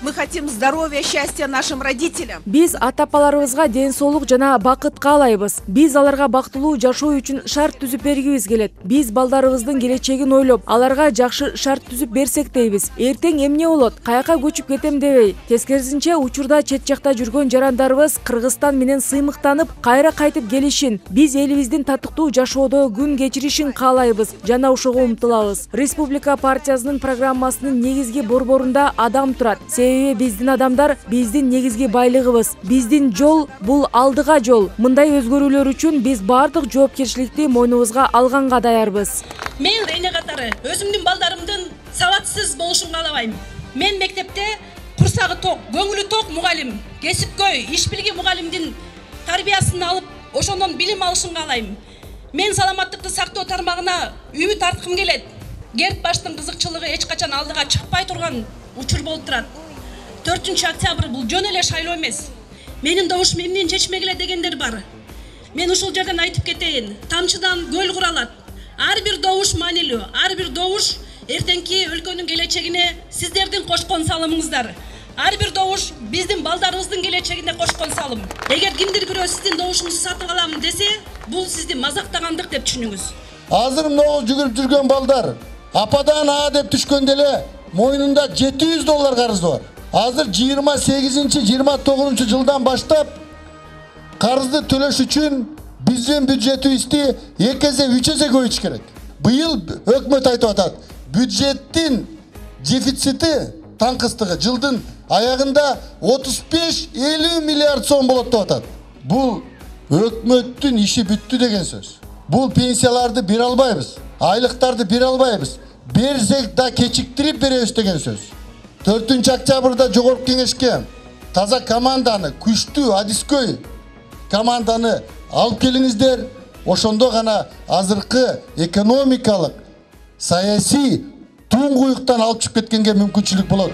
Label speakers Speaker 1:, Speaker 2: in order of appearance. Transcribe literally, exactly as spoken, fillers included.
Speaker 1: Мы хотим здоровья, счастья нашим родителям.
Speaker 2: Биз ата-апаларыбызга ден соолук жана бакыт каалайбыз. Биз аларга бактылуу жашоо үчүн шарт түзүп бергибиз келет. Биз балдарыбыздын келечегин ойлоп, аларга жакшы шарт түзүп берсек дейбиз. Эртең эмне болот? Каяка көчүп кетем дебей. Тескерисинче, учурда чет жакта жүргөн жарандарыбыз Кыргызстан менен сыймыктанып, кайра кайтып келишин, биз элибиздин татыктуу жашоодо күн кечиришин каалайбыз жана ошого умтулабыз. Республика партиясынын программасынын негизги борборунда адам турат. Себеби биздин адамдар биздин негизги байлыгыбыз. Биздин жол бул алдыга жол. Мындай өзгөрүүлөр үчүн биз бардык жоопкерчиликти мойнубузга алганга даярбыз.
Speaker 3: Мен эне катары өзүмдүн балдарымдын сабатсыз болушун каалабайм. Мен мектепте курсагы ток, көңүлү ток мугалим, кесипкөй, иш билги мугалимдин тарбиясын алып, ошондон билим алышын каалайм. Мен саламаттыкты сактоо тармагына үмүт арткым келет. Керт баштын кызыкчылыгы эч качан алдыга чыкпай турган учур болуп турат. төртүнчү октябрь бул жөн эле шайлоо эмес. Менин добушум эмнени чечмегиле дегендер бар. Мен ушул жерден айтып кетейин. Тамчыдан көл куралат. Ар бир добуш маанилүү. Ар бир добуш эртеңки өлкөнүн келечегине сиздердин кошкон салымыңыздар. Ар бир добуш биздин балдарыбыздын келечегине кошкон салым. Эгер кимдир бирөө сиздин добушуңузду сатып алам десе, бул сизди мазактагандык деп түшүнүңүз.
Speaker 4: Азыр могул жүгүрүп жүргөн балдар ападан а деп түшкөндө эле мойнунда жети жүз доллар карызы бар. Азыр жыйырма сегизинчи жыйырма тогузунчу жылдан баштап карызды төлөш үчүн биздин бюджетибизди эки эсе үч эсе көбөйтүш керек. Быйыл өкмөт айтып атат, бюджеттин дефицити таңкыстыгы жылдын аягында отуз беш элүү миллиард сом болот деп атат. Бул өкмөттүн иши бүттү деген сөз. Бул пенсияларды бере албайбыз, айлыктарды бере албайбыз. Берсек да кечиктирип беребиз деген сөз. төртүнчү октябрда жогорку кеңешке таза команданы, күчтүү, адискөй команданы алып келиңиздер. Ошондо гана азыркы экономикалык, саясий туңгуюктан алып чыгып кеткенге мүмкүнчүлүк болот.